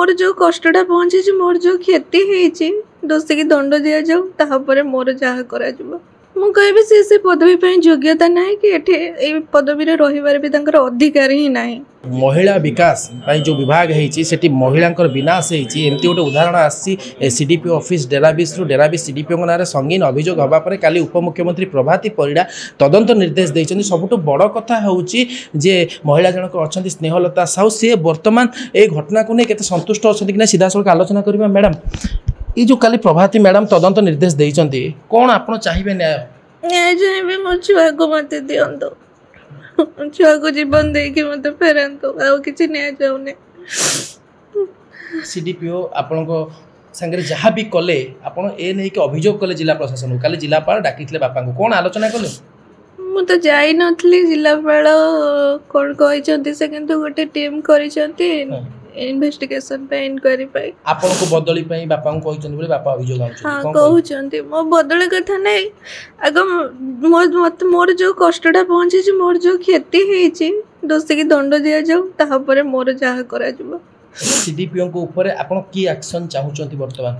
ମୋର ଯେଉଁ କଷ୍ଟଟା ପହଞ୍ଚିଛି, ମୋର ଯେଉଁ କ୍ଷତି ହେଇଛି, ଦୋଷୀକି ଦଣ୍ଡ ଦିଆଯାଉ, ତାପରେ ମୋର ଯାହା କରାଯିବ। ମୁଁ କହିବି ସେ ସେ ପଦବୀ ପାଇଁ ଯୋଗ୍ୟତା ନାହିଁ କି ଏଠି ଏଇ ପଦବୀରେ ରହିବାର ବି ତାଙ୍କର ଅଧିକାର ହିଁ ନାହିଁ। ମହିଳା ବିକାଶ ପାଇଁ ଯେଉଁ ବିଭାଗ ହେଇଛି, ସେଠି ମହିଳାଙ୍କର ବିନାଶ ହେଇଛି। ଏମିତି ଗୋଟେ ଉଦାହରଣ ଆସିଛି ସି ଡି ପି ଅଫିସ୍ ଡେରାବିଶରୁ। ଡେରାବିଶ ସି ଡି ପି ଓଙ୍କ ନାଁରେ ସଙ୍ଗୀନ ଅଭିଯୋଗ ହେବା ପରେ କାଲି ଉପମୁଖ୍ୟମନ୍ତ୍ରୀ ପ୍ରଭାତୀ ପରିଡ଼ା ତଦନ୍ତ ନିର୍ଦ୍ଦେଶ ଦେଇଛନ୍ତି। ସବୁଠୁ ବଡ଼ କଥା ହେଉଛି ଯେ ମହିଳା ଜଣକ ଅଛନ୍ତି ସ୍ନେହଲତା ସାହୁ, ସିଏ ବର୍ତ୍ତମାନ ଏ ଘଟଣାକୁ ନେଇ କେତେ ସନ୍ତୁଷ୍ଟ ଅଛନ୍ତି କି ନା ସିଧାସଳଖ ଆଲୋଚନା କରିବା। ମ୍ୟାଡ଼ାମ୍, ଏଇ ଯେଉଁ କାଲି ପ୍ରଭାତୀ ମ୍ୟାଡ଼ାମ୍ ତଦନ୍ତ ନିର୍ଦ୍ଦେଶ ଦେଇଛନ୍ତି, କ'ଣ ଆପଣ ଚାହିଁବେ ନ୍ୟାୟ? ନ୍ୟାୟ ଚାହିଁବି, ମୋ ଛୁଆକୁ ମୋତେ ଦିଅନ୍ତୁ, ଛୁଆକୁ ଜୀବନ ଦେଇକି ମୋତେ ଫେରାନ୍ତୁ, ଆଉ କିଛି ନ୍ୟାୟ ଚାହୁଁନି। ସି ଡି ପି ଓ ଆପଣଙ୍କ ସାଙ୍ଗରେ ଯାହା ବି କଲେ, ଆପଣ ଏ ନେଇକି ଅଭିଯୋଗ କଲେ ଜିଲ୍ଲା ପ୍ରଶାସନକୁ। କାଲି ଜିଲ୍ଲାପାଳ ଡାକିଥିଲେ ବାପାଙ୍କୁ, କ'ଣ ଆଲୋଚନା କଲେ? ମୁଁ ତ ଯାଇନଥିଲି। ଜିଲ୍ଲାପାଳ କ'ଣ କହିଛନ୍ତି ସେ, କିନ୍ତୁ ଗୋଟେ ଟିମ୍ କରିଛନ୍ତି ଇନଭେଷ୍ଟିଗେସନ ପାଇଁ, ଇନକ୍ୱାରି ପାଇଁ। ଆପଣଙ୍କୁ ବଦଳି ପାଇଁ ବାପାଙ୍କୁ କହିଛନ୍ତି ବୋଲି ବାପା ଅଭିଯୋଗ ଆଣୁଛନ୍ତି। ହଁ, କହୁଛନ୍ତି। ମୋ ବଦଳି କଥା ନାଇଁ, ଆଗ ମତେ ମୋର ଯେଉଁ କଷ୍ଟଟା ପହଞ୍ଚିଛି, ମୋର ଯେଉଁ କ୍ଷତି ହେଇଛି, ଦୋଷୀକି ଦଣ୍ଡ ଦିଆଯାଉ, ତାପରେ ମୋର ଯାହା କରାଯିବ। ସି ଡି ପି ଓଙ୍କ ଉପରେ ଆପଣ କି ଆକ୍ସନ୍ ଚାହୁଁଛନ୍ତି ବର୍ତ୍ତମାନ?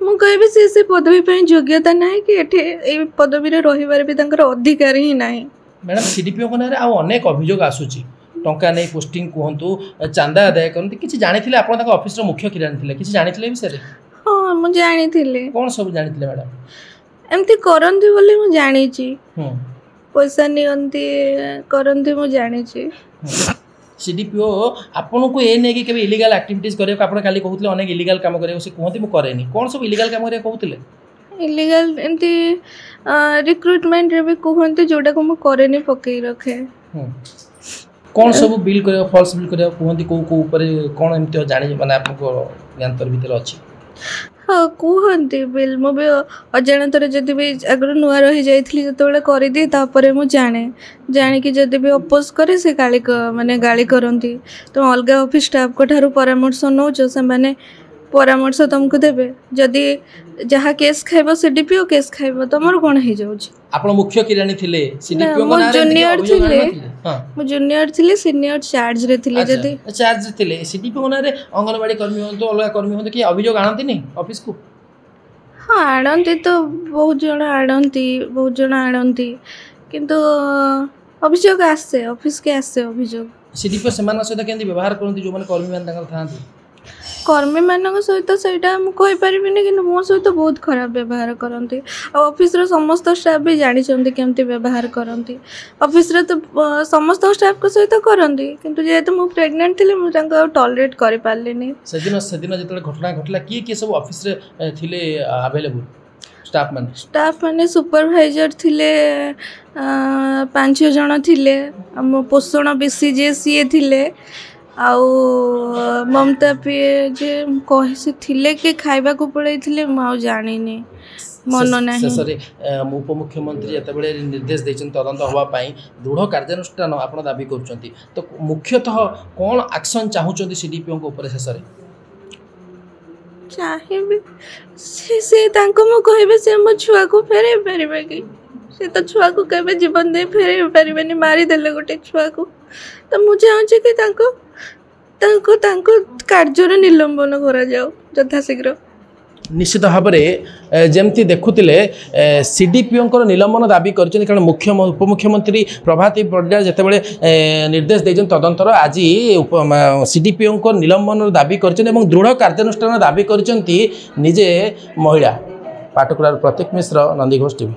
ମୁଁ କହିବି ସେ ସେ ପଦବୀ ପାଇଁ ଯୋଗ୍ୟତା ନାହିଁ କି ଏଠି ଏଇ ପଦବୀରେ ରହିବାର ବି ତାଙ୍କର ଅଧିକାର ହିଁ ନାହିଁ। ମ୍ୟାଡ଼ାମ୍, ସି ଡି ପି ଓଙ୍କ ନାଁରେ ଆଉ ଅନେକ ଅଭିଯୋଗ ଆସୁଛି, ଟଙ୍କା ନେଇ ପୋଷ୍ଟିଂ କୁହନ୍ତୁ, ଚାନ୍ଦା ଆଦାୟ କରନ୍ତି। କିଛି ଜାଣିଥିଲେ ଆପଣ? ତାଙ୍କ ଅଫିସର ମୁଖ୍ୟ କିରାଣୀ ଥିଲେ, କିଛି ଜାଣିଥିଲେ ଏ ବିଷୟରେ? ହଁ, ମୁଁ ଜାଣିଥିଲି। କ'ଣ ସବୁ ଜାଣିଥିଲେ ମ୍ୟାଡ଼ାମ୍? ଏମିତି କରନ୍ତି ବୋଲି ମୁଁ ଜାଣିଛି, ପଇସା ନିଅନ୍ତି, କରନ୍ତି, ମୁଁ ଜାଣିଛି। ସି ଡି ପି ଓ ଆପଣଙ୍କୁ ଏ ନେଇକି କେବେ ଇଲିଗାଲ ଆକ୍ଟିଭିଟିଜ୍ କରିବାକୁ, ଆପଣ କାଲି କହୁଥିଲେ ଅନେକ ଇଲିଗାଲ କାମ କରିବାକୁ, ସେ କୁହନ୍ତି ମୁଁ କରେନି, କ'ଣ ସବୁ ଇଲିଗାଲ କାମ କରିବାକୁ କହୁଥିଲେ? ଇଲିଗାଲ ଏମିତି ରିକ୍ରୁଟମେଣ୍ଟରେ ବି କୁହନ୍ତି, ଯେଉଁଟାକୁ ମୁଁ କରେନି, ପକେଇ ରଖେ। କ'ଣ ସବୁ ବିଲ୍ କରିବାକୁ, ଫଲ୍ସ ବିଲ୍ କରିବାକୁ କୁହନ୍ତି, କେଉଁ କେଉଁ ଉପରେ କ'ଣ ଏମିତି ଜାଣି ମାନେ ଆପଣଙ୍କ ଜ୍ଞାତର ଭିତରେ ଅଛି? ହଁ, କୁହନ୍ତି ବିଲ୍। ମୁଁ ବି ଅଜାଣତରେ ଯଦି ବି ଆଗରୁ ନୂଆ ରହିଯାଇଥିଲି ଯେତେବେଳେ କରିଦିଏ, ତାପରେ ମୁଁ ଜାଣେ, ଜାଣିକି ଯଦି ବି ଅପୋଜ କରେ, ସେ ଗାଳି ମାନେ ଗାଳି କରନ୍ତି। ତୁମେ ଅଲଗା ଅଫିସ୍ ଷ୍ଟାଫ୍ଙ୍କ ଠାରୁ ପରାମର୍ଶ ନେଉଛ, ସେମାନେ ପରାମର୍ଶ ତୁମକୁ ଦେବେ। ଯଦି ଯାହା କେସ୍ ଖାଇବ C D P O case ଖାଇବ, ତମର କ'ଣ ହେଇଯାଉଛି? ଆପଣ ମୁଖ୍ୟ କିରାଣୀ ଥିଲେ, ମୁଁ ଜୁନିୟର ଥିଲି, ମୁଁ ଜୁନିୟର ଥିଲି, ସିନିୟର ଚାର୍ଜରେ ଥିଲି। ଯଦି ଚାର୍ଜରେ ଥିଲେ, ସି ଡି ପି ଓ ନାଁରେ ଅଙ୍ଗନବାଡ଼ି କର୍ମୀ ହୁଅନ୍ତୁ, ଅଲଗା କର୍ମୀ ହୁଅନ୍ତୁ, କିଏ ଅଭିଯୋଗ ଆଣନ୍ତିନି ଅଫିସକୁ? ହଁ, ଆଣନ୍ତି ତ, ବହୁତ ଜଣ ଆଣନ୍ତି, ବହୁତ ଜଣ ଆଣନ୍ତି, କିନ୍ତୁ ଅଭିଯୋଗ ଆସେ, ଅଫିସକି ଆସେ ଅଭିଯୋଗ। ସି ଡି ପି ଓ ସେମାନଙ୍କ ସହିତ କେମିତି ବ୍ୟବହାର କରନ୍ତି, ଯେଉଁମାନେ କର୍ମୀମାନେ ତାଙ୍କର ଥାଆନ୍ତି? କର୍ମୀମାନଙ୍କ ସହିତ ସେଇଟା ମୁଁ କହିପାରିବିନି, କିନ୍ତୁ ମୋ ସହିତ ବହୁତ ଖରାପ ବ୍ୟବହାର କରନ୍ତି। ଆଉ ଅଫିସର ସମସ୍ତ ଷ୍ଟାଫ୍ ବି ଜାଣିଛନ୍ତି କେମିତି ବ୍ୟବହାର କରନ୍ତି। ଅଫିସରେ ତ ସମସ୍ତ ଷ୍ଟାଫ୍ଙ୍କ ସହିତ କରନ୍ତି, କିନ୍ତୁ ଯେହେତୁ ମୁଁ ପ୍ରେଗନେଣ୍ଟ ଥିଲି, ମୁଁ ତାଙ୍କୁ ଆଉ ଟଲରେଟ୍ କରିପାରିଲିନି। ସେଦିନ ଯେତେବେଳେ ଘଟଣା ଘଟିଲା, କିଏ କିଏ ସବୁ ଅଫିସରେ ଥିଲେ ଆଭେଲେବୁଲ୍ ଷ୍ଟାଫ୍ ମାନେ? ଷ୍ଟାଫ୍ ମାନେ ସୁପରଭାଇଜର ଥିଲେ, 5 ଜଣ ଥିଲେ, ଆମ ପୋଷଣ ବେଶୀ ଯିଏ ସିଏ ଥିଲେ, ଆଉ ମମତା ପିଏ ଯେ କହି ସେ ଥିଲେ କି ଖାଇବାକୁ ପଳେଇଥିଲେ ମୁଁ ଆଉ ଜାଣିନି, ମନ ନାହିଁ। ଶେଷରେ ଉପମୁଖ୍ୟମନ୍ତ୍ରୀ ଯେତେବେଳେ ନିର୍ଦ୍ଦେଶ ଦେଇଛନ୍ତି ତଦନ୍ତ ହେବା ପାଇଁ, ଦୃଢ଼ କାର୍ଯ୍ୟାନୁଷ୍ଠାନ ଆପଣ ଦାବି କରୁଛନ୍ତି, ତ ମୁଖ୍ୟତଃ କ'ଣ ଆକ୍ସନ୍ ଚାହୁଁଛନ୍ତି ସି ଡି ପି ଓଙ୍କ ଉପରେ ଶେଷରେ? ଚାହିଁବି ସେ ତାଙ୍କୁ ମୁଁ କହିବି, ସେ ମୋ ଛୁଆକୁ ଫେରାଇ ପାରିବେ କି? ସେ ତ ଛୁଆକୁ କେବେ ଜୀବନ ଦେଇ ଫେରାଇ ପାରିବେନି, ମାରିଦେଲେ ଗୋଟେ ଛୁଆକୁ। ତ ମୁଁ ଚାହୁଁଛି କି ତାଙ୍କୁ ତାଙ୍କୁ ତାଙ୍କୁ କାର୍ଯ୍ୟରେ ନିଲମ୍ବନ କରାଯାଉ ଯଥାଶୀଘ୍ର। ନିଶ୍ଚିତ ଭାବରେ ଯେମିତି ଦେଖୁଥିଲେ, ସି ଡି ପି ଓଙ୍କର ନିଲମ୍ବନ ଦାବି କରିଛନ୍ତି, କାରଣ ମୁଖ୍ୟ ଉପମୁଖ୍ୟମନ୍ତ୍ରୀ ପ୍ରଭାତୀ ପରିଡ଼ା ଯେତେବେଳେ ନିର୍ଦ୍ଦେଶ ଦେଇଛନ୍ତି ତଦନ୍ତର, ଆଜି ସି ଡି ପି ଓଙ୍କ ନିଲମ୍ବନର ଦାବି କରିଛନ୍ତି ଏବଂ ଦୃଢ଼ କାର୍ଯ୍ୟାନୁଷ୍ଠାନ ଦାବି କରିଛନ୍ତି ନିଜେ ମହିଳା। ପାଟକୁରାରୁ ପ୍ରତୀକ ମିଶ୍ର, ନନ୍ଦିଘୋଷ ଟିଭି।